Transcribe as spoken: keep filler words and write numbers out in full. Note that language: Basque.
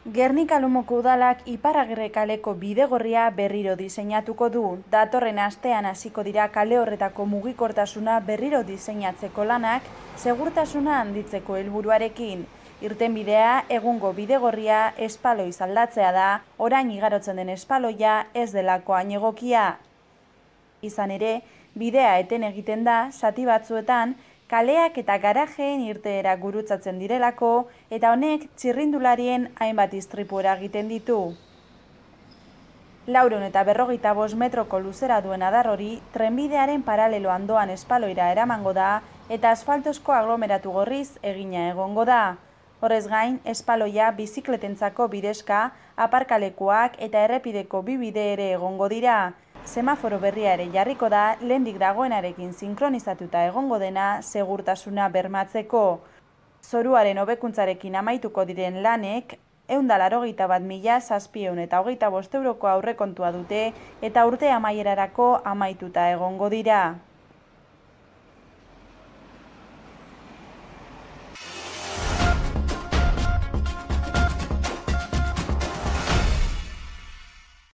Gernika-Lumoko udalak Ipar-Agirre kaleko bidegorria berriro diseinatuko du. Datorren astean hasiko dira kale horretako mugikortasuna berriro diseinatzeko lanak, segurtasuna handitzeko helburuarekin. Irtenbidea egungo bidegorria espaloi aldatzea da, orain igarotzen den espaloia ez delako hain egokia. Izan ere, bidea eten egiten da zati batzuetan, kaleak eta garajeen irteera gurutzatzen direlako eta honek txirrindularien hainbat istripu eragiten ditu. Laurehun eta berrogeita bost metroko luzera duen adar hori trenbidearen paralelo andoan espaloira eramango da eta asfaltozko aglomeratu gorriz egina egongo da. Horrez gain, espaloia bizikletentzako bidezka, aparkalekuak eta errepideko bi bide ere egongo dira. Semaforo berria ere jarriko da, lehendik dagoenarekin sinkronizatuta egongo dena segurtasuna bermatzeko. Zoruaren hobekuntzarekin amaituko diren lanek, ehun eta laurogeita bat mila zazpiehun eta hogeita bost euroko aurrekontua dute eta urte amaierarako amaituta egongo dira.